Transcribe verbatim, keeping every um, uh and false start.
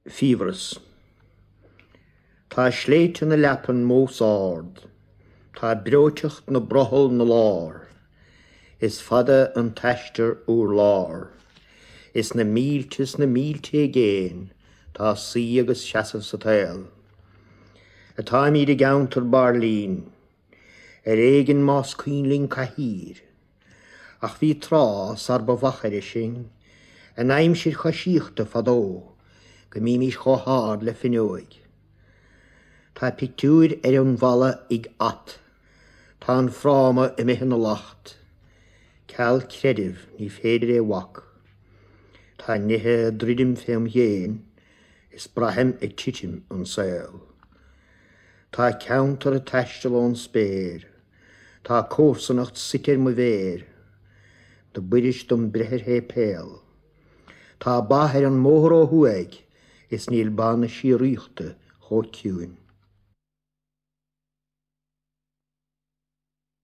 Fiabhras. Tá sléibhte na leapan mós ard, Tá breoiteacht na brothall 'na lár, Is fada an t-aistear urlár, Is na mílte is na mílte i gcéin tá suí agus seasamh sa tsaol. Atáimid i gceantar Bairlín, ar éigean más cuimhin linn cathaoir, ach bhí tráth sar ba mhachaire sinn, in aimsir choisíochta fadó, go mbímis chomh hard le finneoig. Tá pictiúir ar an bhalla ag at, Tá an fráma imithe ina lacht, Ceal creidimh ní féidir é a bhac. Tá nithe ag druidim fém dhéin is braithim ag titim an saol. Tá ceantar ag taisteal ón spéir, Tá comharsanacht suite ar mo mhéir, Na b'fhuirist dom breith ar shéipéal. Tá ba ar an mbóthar ó thuaidh is níl ba na síoraíochta chomh ciúin.